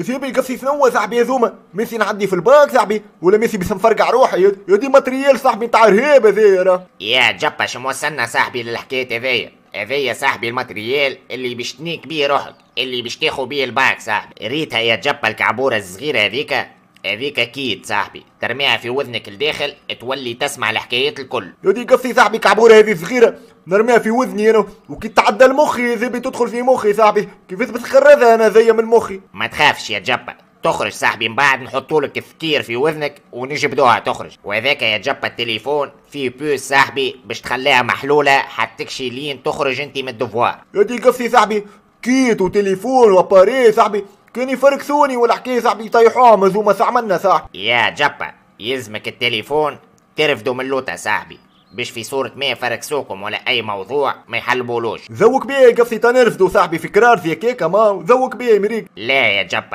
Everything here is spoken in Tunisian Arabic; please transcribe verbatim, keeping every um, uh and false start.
سيبي قصي، شنو صاحبي هذوما؟ ميسي نعدي في الباك صاحبي ولا ميسي باش نفرقع روحي؟ يا دي matériel صاحبي نتاع ارهاب هذايا راه. يا جبا، شو موصلنا صاحبي للحكاية هذيا؟ هذيا صاحبي ال matériel اللي باش تنيك بيه روحك، اللي باش تاخو بيه الباك صاحبي. ريتها يا جبا الكعبورة الصغيرة هذيك؟ هذيك kit صاحبي، ترميها في وذنك الداخل تولي تسمع الحكايات الكل. يا دي قصي صاحبي، كعبورة هذه صغيرة نرميها في وذني انا وكي تعدى المخي زي تدخل في مخي صاحبي، كيفاش بتخرجها انا زي من مخي؟ ما تخافش يا جبا، تخرج صاحبي، من بعد نحطولك السكير في وذنك ونجبدوها تخرج. وهذاك يا جبا التليفون فيه puce صاحبي باش تخليها محلولة حتكشي لين تخرج انت من ال devoir. يا دي قصي صاحبي، kit وتليفون و appareil صاحبي، كان يفركسوني ولا حكاية صاحبي يطيحوها مزومه عملنا صاحبي. يا جبا، يلزمك التليفون ترفدوا من لوطة صاحبي، باش في صورة ما يفركسوكم ولا اي موضوع ما يحلبولوش. ذوق بيه قصي، تنرفدوا صاحبي في كرار في كيكة ما ذوق بيه مريك. لا يا جبا.